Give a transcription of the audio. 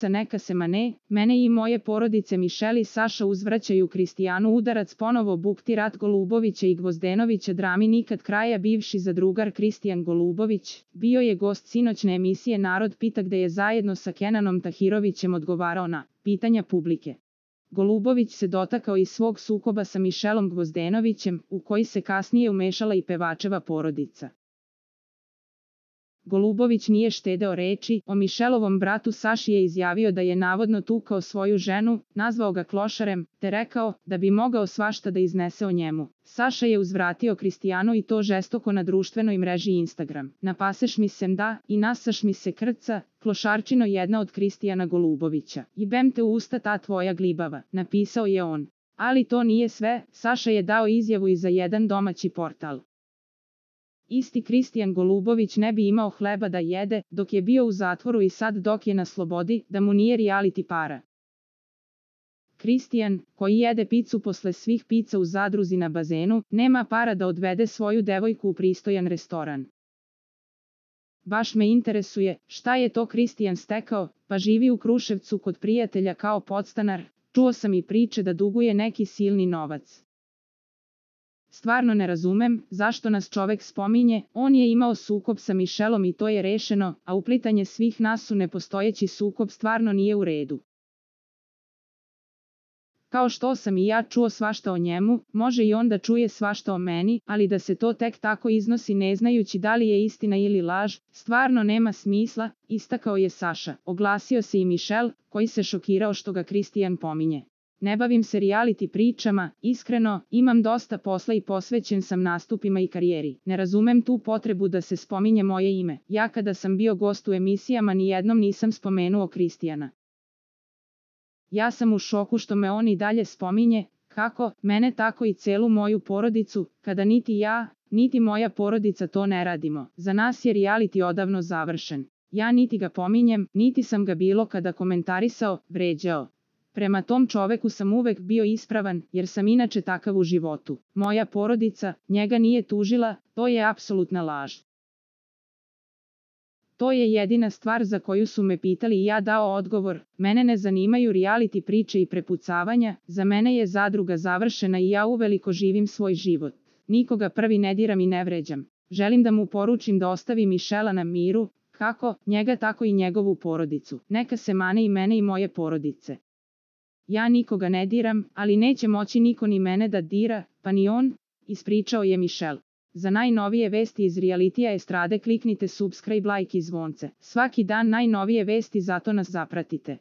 neka se mane, mene i moje porodice Mišel i Saša uzvraćaju Kristijanu udarac ponovo bukti rat Golubovića i Gvozdenovića drami nikad kraja. Bivši zadrugar Kristijan Golubović bio je gost sinoćne emisije Narod pita gde je zajedno sa Kenanom Tahirovićem odgovarao na pitanja publike. Golubović se dotakao i svog sukoba sa Mišelom Gvozdenovićem, u koji se kasnije umešala i pevačeva porodica. Golubović nije štedeo reči, o Mišelovom bratu Saši je izjavio da je navodno tukao svoju ženu, nazvao ga klošarem, te rekao da bi mogao svašta da iznese o njemu. Saša je uzvratio Kristijanu i to žestoko na društvenoj mreži Instagram. Napaseš mi se da i nasaš mi se krca, klošarčino jedna od Kristijana Golubovića. Jebem te u usta ta tvoja glibava, napisao je on. Ali to nije sve, Saša je dao izjavu i za jedan domaći portal. Isti Kristijan Golubović ne bi imao hleba da jede, dok je bio u zatvoru i sad dok je na slobodi, da mu nije reality para. Kristijan, koji jede picu posle svih pica u zadruzi na bazenu, nema para da odvede svoju devojku u pristojan restoran. Baš me interesuje, šta je to Kristijan stekao, pa živi u Kruševcu kod prijatelja kao podstanar, čuo sam i priče da duguje neki silni novac. Stvarno ne razumem, zašto nas čovek spominje, on je imao sukob sa Mišelom i to je rešeno, a uplitanje svih nas u nepostojeći sukob stvarno nije u redu. Kao što sam i ja čuo svašta o njemu, može i on da čuje svašta o meni, ali da se to tek tako iznosi ne znajući da li je istina ili laž, stvarno nema smisla, istakao je Saša. Oglasio se i Mišel, koji se šokirao što ga Kristijan pominje. Ne bavim se reality pričama, iskreno, imam dosta posla i posvećen sam nastupima i karijeri. Ne razumem tu potrebu da se spominje moje ime. Ja kada sam bio gost u emisijama nijednom nisam spomenuo Kristijana. Ja sam u šoku što me on i dalje spominje, kako, mene tako i celu moju porodicu, kada niti ja, niti moja porodica to ne radimo. Za nas je reality odavno završen. Ja niti ga pominjem, niti sam ga bilo kada komentarisao, vređao. Prema tom čoveku sam uvek bio ispravan, jer sam inače takav u životu. Moja porodica njega nije tužila, to je apsolutna laž. To je jedina stvar za koju su me pitali i ja dao odgovor, mene ne zanimaju reality priče i prepucavanja, za mene je zadruga završena i ja uveliko živim svoj život. Nikoga prvi ne diram i ne vređam. Želim da mu poručim da ostavi Mišela na miru, kako njega tako i njegovu porodicu. Neka se mane i mene i moje porodice. Ja nikoga ne diram, ali neće moći niko ni mene da dira, pa ni on, ispričao je Mišel. Za najnovije vesti iz realitija estrade kliknite subscribe, like i zvonce. Svaki dan najnovije vesti, zato nas zapratite.